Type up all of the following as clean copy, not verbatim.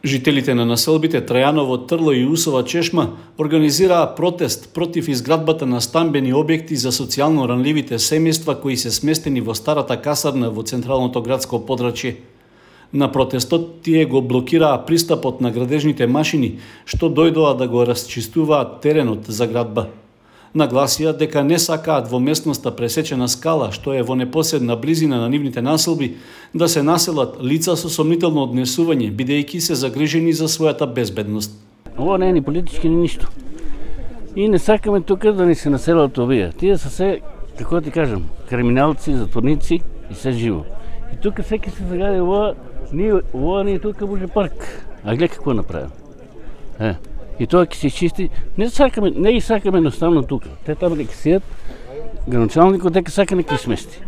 Жителите на населбите Трајаново, Трло и Усова Чешма организираа протест против изградбата на стамбени објекти за социјално ранливите семејства кои се сместени во старата касарна во централното градско подрачје. На протестот тие го блокираа пристапот на градежните машини што дојдоа да го расчистуваат теренот за градба. Нагласија дека не сакаат во местноста пресечена скала, што е во непосредна близина на нивните населби, да се населат лица со сомнително однесување, бидејќи се загрижени за својата безбедност. Ова не е ни политички ни ништо. И не сакаме тука да ни се населат овие. Тие се се, како ти кажам, криминалци, затворници и се живо. И тука секи се загади ова не е тука може парк. А гледа какво направи. И тоа ќе се чисти. Не ги сакаме едноставно тука. Те таму дека сијат, граначалникот дека сака нека смести.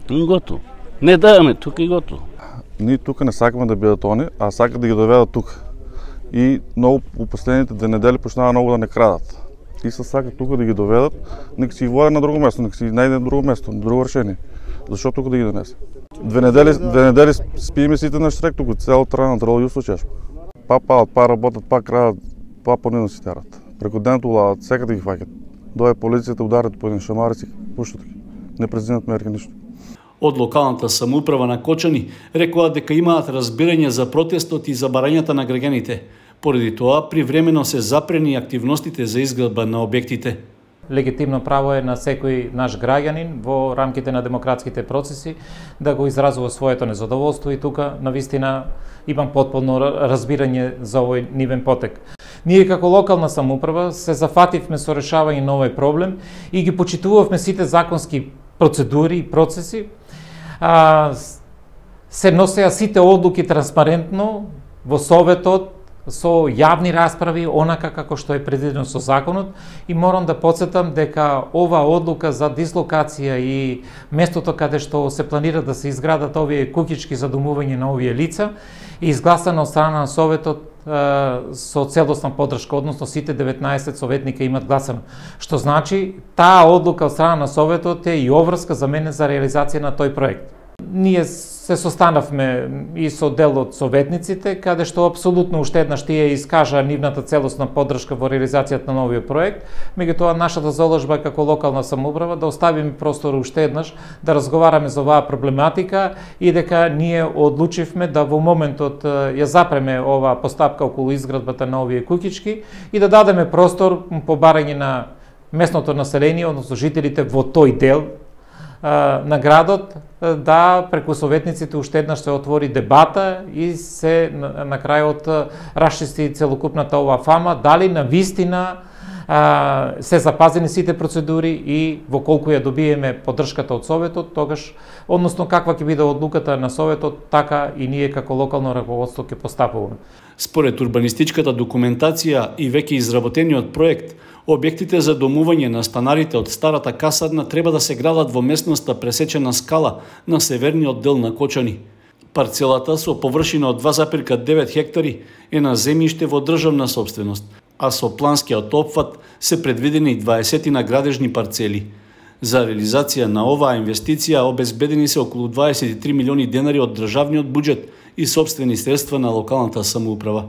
И готово. Не даваме тука и готово. Ние тука не сакаме да бидат они, а сакат да ги доведат тука. И многу по последните 2 недели почнаа многу да не крадат. И се сакат тука да ги доведат, нека си ги водат на друго место, нека си најде на друго место, на друго решение. Зашо тука да ги донесе? 2 недели спиеме сите на штрек тука, цел Трајаново, Трло и Усова Чешма. Па палат, па работат, па крадат, па понидно си терат. Преку денот улават, секаде ги фаќат. Дое полицијата, ударат по еден шамари си пуштат ги. Не презимат мерки ништо. Од локалната самоуправа на Кочани рекоа дека имаат разбирање за протестот и за барањата на граѓаните. Поради тоа привремено се запрени активностите за изградба на објектите. Легитимно право е на секој наш граѓанин во рамките на демократските процеси да го изразува своето незадоволство и тука навистина имам потполно разбирање за овој нивен потек. Ние како локална самоуправа се зафативме со решавање на овој проблем и ги почитувавме сите законски процедури и процеси. Се носеа сите одлуки транспарентно во Советот со јавни расправи, онака како што е предвидено со законот, и морам да потсетам дека ова одлука за дислокација и местото каде што се планира да се изградат овие куќички за домување на овие лица е изгласана од страна на Советот со целосна поддршка, односно сите 19 советника имат гласано. Што значи, таа одлука од страна на Советот е и обврска за мене за реализација на тој проект. Ние се состанавме и со дел од советниците, каде што апсолутно уште еднаш тие искажаа нивната целосна поддршка во реализацијата на новиот проект. Меѓутоа, нашата заложба како локална самоуправа да оставиме простор уште еднаш да разговараме за оваа проблематика и дека ние одлучивме да во моментот ја запреме оваа постапка околу изградбата на овие куќички и да дадеме простор по барање на местното население, односно жителите во тој дел на градот, да преку советниците уште еднаш се отвори дебата и се на крајот расчисти целокупната ова фама, дали на вистина се запазени сите процедури и во колку ја добиеме поддршката од Советот, тогаш, односно каква ќе биде одлуката на Советот, така и ние како локално раководство ќе постапуваме. Според урбанистичката документација и веќе изработениот проект, објектите за домување на станарите од старата касарна треба да се градат во местноста пресечена скала на северниот дел на Кочани. Парцелата со површина од 2,9 хектари е на земјиште во државна сопственост, а со планскиот опфат се предвидени 20 на градежни парцели. За реализација на оваа инвестиција обезбедени се околу 23 милиони денари од државниот буџет и сопствени средства на локалната самоуправа.